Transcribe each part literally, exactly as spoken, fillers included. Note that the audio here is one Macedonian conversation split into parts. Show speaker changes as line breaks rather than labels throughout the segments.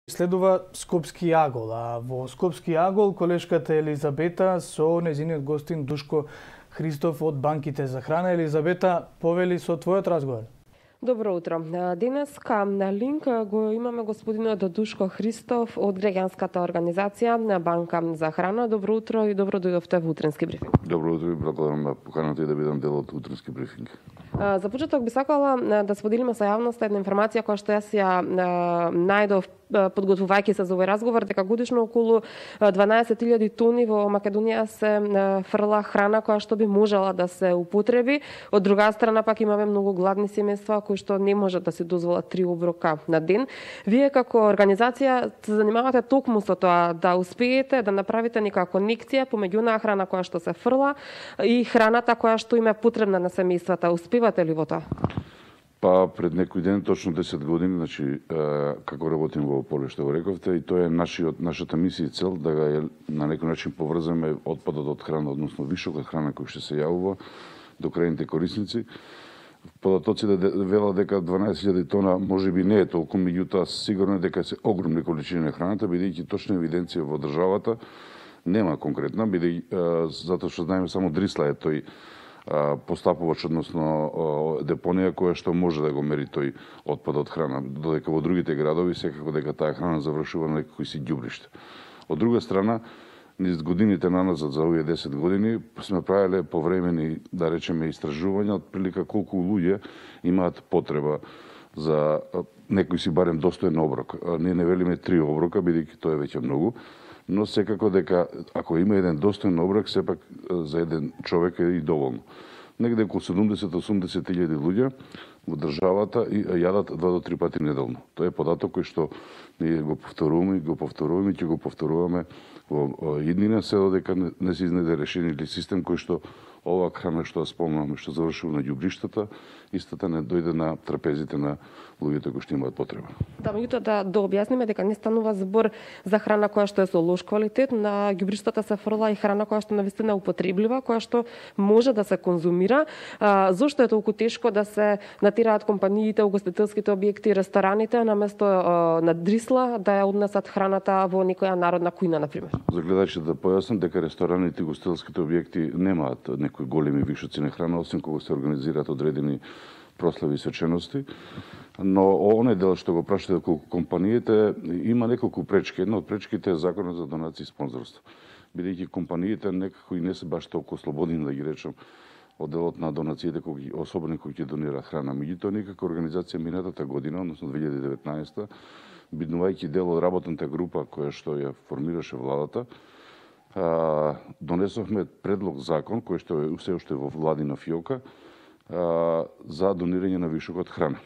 Следува Скопски јагол, а во Скопски јагол колешката Елизабета со нејзиниот гостин Душко Христов од банките за храна. Елизабета, повели со твојот разговор.
Добро утро. Денеска на линк го имаме господинот Душко Христов од граѓанската организација на Банка за храна. Добро утро и добро дојдовте во утренски брифинг.
Добро утро и благодарам на поканата и да бидам дел од утренски брифинг.
За почеток би сакала да споделиме со јавноста една информација која што јас ја најдов подготвувајќи се за овој разговор, дека годишно околу дванаесет илјади тони во Македонија се фрла храна која што би можела да се употреби. Од друга страна пак имаме многу гладни семејства кои што не можат да се дозволат три оброка на ден. Вие како организација се занимавате токму со тоа да успеете да направите некако конекција помеѓу онаа храна која што се фрла и храната која што им е потребна на семејствата. Успевате ли во тоа?
Па пред некој ден, точно десет години, значи како работим во поле што го рековте, и тоа е нашиот нашата мисија и цел да ga на некој начин поврземе отпадот од храна, односно вишокот храна кој што се јавува до крајните корисници. Податоци да велат дека дванаесет илјади тона можеби не е толку, меѓутоа сигурно е дека се огромни количини на храната, бидејќи точна евиденција во државата нема конкретна, бидејќи затоа што знаеме само Дрисла е тој постапувач, односно депонија која што може да го мери тој отпад од храна, додека во другите градови секако дека таа храна завршува на некои си ѓубришта. Од друга страна, низ годините наназад за овие десет години сме правеле повремени, да речеме, истражувања од прилика колку луѓе имаат потреба за некој си барем достоен оброк. Ние не велиме три оброка, бидејќи тоа е веќе многу, но секако дека ако има еден достоен оброк, сепак за еден човек е и доволно. Негде околу седумдесет до осумдесет илјади луѓе во државата и јадат два до три пати неделно. Тоа е податок кој што ние го повторуваме, го повторуваме и ќе го повторуваме во иднина, се додека не се изнајде решение или систем кој што оваа храна што ја спомнаваме, што завршува на ѓубриштата, истата не дојде на трапезите на луѓето кои што имаат потреба.
Да, меѓутоа да, да објасниме дека не станува збор за храна која што е со лош квалитет, на ѓубриштата се фрла и храна која што навистина е употреблива, која што може да се конзумира. А, зошто е толку тешко да се натираат компаниите, угостителските објекти, рестораните, наместо а, на Дрисла да ја однесат храната во некоја народна кујна, например?
За гледачите да појаснам дека рестораните и угостителските објекти немаат некои големи вишоци на храна, освен кога се организираат одредени прослави и свечености. Но оној дел што го прашате колку компаниите има неколку пречки. Една од пречките е законот за донации и спонзорство. Бидејќи компаниите некако и не се баш толку слободни, да ги речам, од делот на донациите, кои, особено кои ќе донираат храна. Меѓутоа, некако организација минатата година, односно две илјади и деветнаесета, биднувајќи дел од работната група која што ја формираше владата, донесовме предлог закон кој што е се уште во владина фиока за донирање на вишокот храна.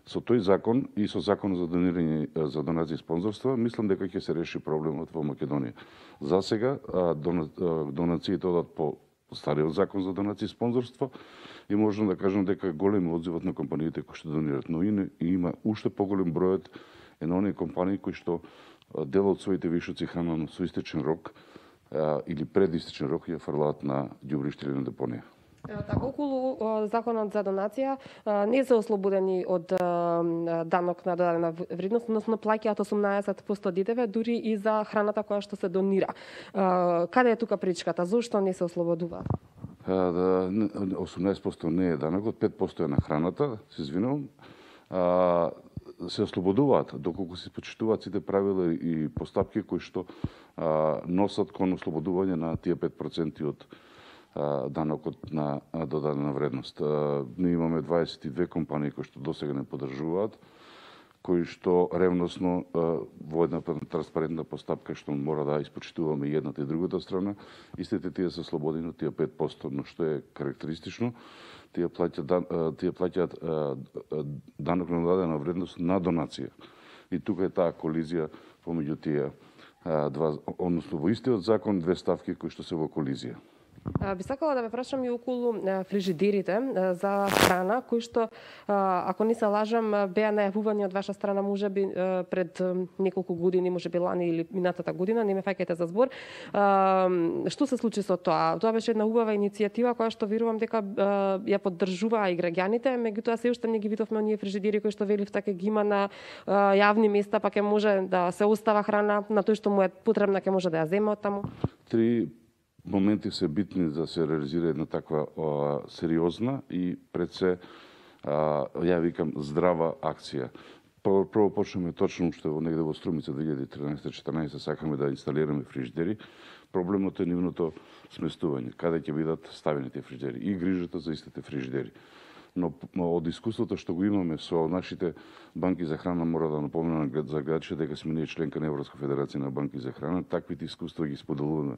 Со тој закон и со законот за донирање за донации и спонзорства, мислам дека ќе се реши проблемот во Македонија. За сега донациите одат по стариот закон за донации и спонзорство и можам да кажам дека голем одзивот на компаниите кои што донираат, но и има уште поголем бројот е на оние компании кои што дел од своите вишоци храна со истечен рок а, или пред истечен рок ја фрлаат на ѓубриште или на депонија.
Така, околу законот за донација не се ослободени од данок на додадена вредност, односно плаќаат осумнаесет проценти ДДВ дури и за храната која што се донира. Каде е тука пречката? Зошто не се ослободуваат?
осумнаесет проценти не е данокот, пет проценти е на храната, се извинувам. Се ослободуваат доколку се почитуваат сите правила и постапки кои што а, носат кон ослободување на тие пет проценти од а, данокот на додадена вредност. А, ние имаме дваесет и две компании кои што досега не поддржуваат, кои што ревносно а, во една транспарентна постапка што мора да испочитуваме и едната и другата страна, истите тие се слободени од тие пет проценти, но што е карактеристично, тие плаќаат тие плаќаат данок на додадена вредност на донација. И тука е таа колизија помеѓу тие два, односно во истиот закон две ставки кои што се во колизија.
Би сакала да ве прашам и околу фрижидерите за храна, кои што, ако не се лажам, беа најавувани од ваша страна можеби пред неколку години, можеби лани или минатата година, не ме фаќајте за збор. Што се случи со тоа? Тоа беше една убава иницијатива која што верувам дека ја поддржуваа и граѓаните, меѓутоа се уште не ги видовме оние фрижидери кои што велив така ги има на јавни места, па ќе може да се остава храна на тој што му е потребна, ќе може да ја земе од таму.
Три моменти се битни да се реализира една таква а, сериозна и пред се, а, ја викам, здрава акција. Прво, прво почнеме точно уште во негде во Струмица две илјади и тринаесета четрнаесета сакаме да инсталираме фрижидери. Проблемот е нивното сместување, каде ќе бидат ставени тие фрижидери и грижата за истите фрижидери. Но од искуството што го имаме со нашите банки за храна, мора да напомнам за гледачите дека сме ние членка на Европска федерација на банки за храна, таквите искуства ги споделуваме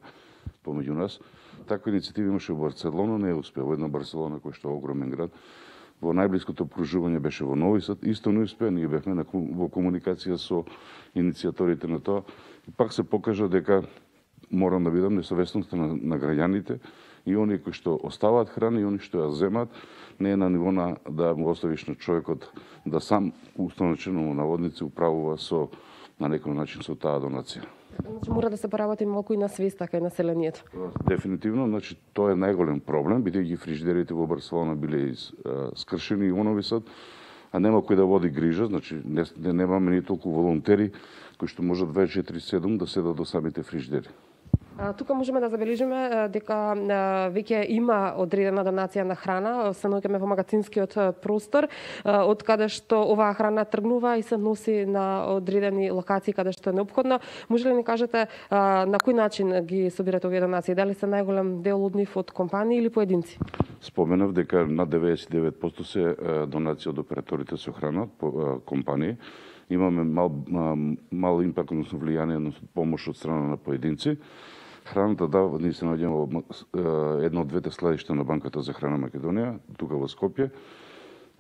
помеѓу нас. Таква иницијатива имаше во Барселона, не е успеа. Во една Барселона која што е огромен град, во најблиското окружување беше во Нови Сад, исто не успеа, ние бевме на, во комуникација со иницијаторите на тоа. И пак се покажа дека морам да видам несовесноста на, на граѓаните и оние кои што оставаат храна и оние што ја земат, не е на ниво на да му оставиш на човекот да сам установчено наводници управува со на некој начин со таа донација.
Значи мора да се поработи малку и на свеста кај населението.
Дефинитивно, значи тоа е најголем проблем, бидејќи фрижидерите во Барселона биле из, а, скршени и во Нови Сад, а нема кој да води грижа, значи не, не немаме ни толку волонтери кои што можат дваесет и четири седум да седат до самите фрижидери.
А, тука можеме да забележиме дека веќе има одредена донација на храна, се наоѓаме во магазинскиот простор, од каде што оваа храна тргнува и се носи на одредени локации каде што е неопходно. Може ли ни кажете на кој начин ги собирате овие донации? Дали се најголем дел од нив од компании или поединци?
Споменав дека над деветдесет и девет проценти се донација од операторите со храна, компании. Имаме мал, мал импакт, односно влијание, односно помош од страна на поединци. Храната, да, ние се наоѓаме во едно од двете складишта на Банката за храна Македонија, тука во Скопје.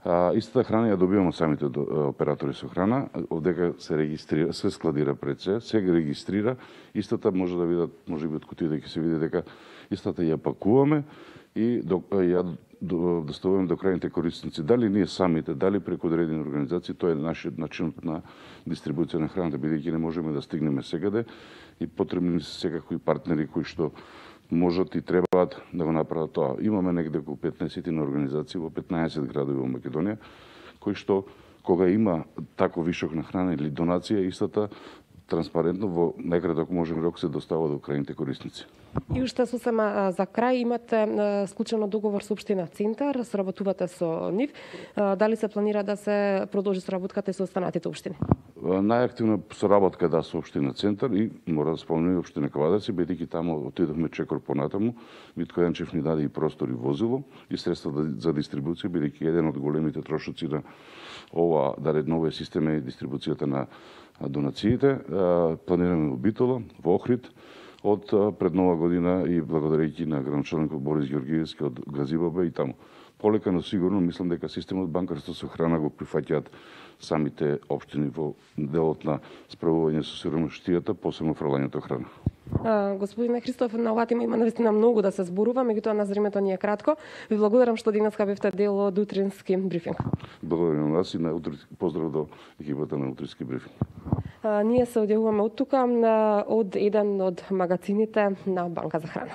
А, истата храна ја добиваме од самите оператори со храна, одека се регистрира, се складира пред се, се ги регистрира, истата може да видат, може би од кутија да ќе се види дека истата ја пакуваме и до, ја доставуваме до крајните корисници. Дали ние самите, дали преку одредени организации, тоа е нашиот начин на дистрибуција на храната, бидејќи не можеме да стигнеме секаде и потребни се секакви партнери кои што можат и требаат да го направат тоа. Имаме негде околу петнаесет на организации во петнаесет градови во Македонија, кои што кога има тако вишок на храна или донација, истата транспарентно во најкраток можен рок се достава до крајните корисници.
И уште сосема за крај, имате склучено договор со општина Центар, соработувате со нив. Дали се планира да се продолжи соработката со останатите општини?
Најактивна соработка да со општина Центар и мора да спомнеме и општина Кавадарци, бидејќи таму отидовме чекор понатаму, Витко Јанчев ни даде и простор и возило и средства за дистрибуција, бидејќи еден од големите трошоци на ова да реднове система е дистрибуцијата на донациите. Планираме во Битола, во Охрид, од пред нова година и благодарејќи на градоначалникот Борис Ѓоргиевски од Газибабе и таму. Полека, но сигурно, мислам дека системот банкарство со храна го прифаќаат самите општини во делот на справување со сиромаштијата, посебно фрлањето храна.
А, господине Христов, на оваа тема има навистина многу да се зборува, меѓутоа на времето ни е кратко. Ви благодарам што денеска бевте дел од утрински брифинг.
Благодарам вас и на утре, поздрав до екипата на утрински брифинг.
А, ние се одјавуваме од тука од еден од магазините на Банка за храна.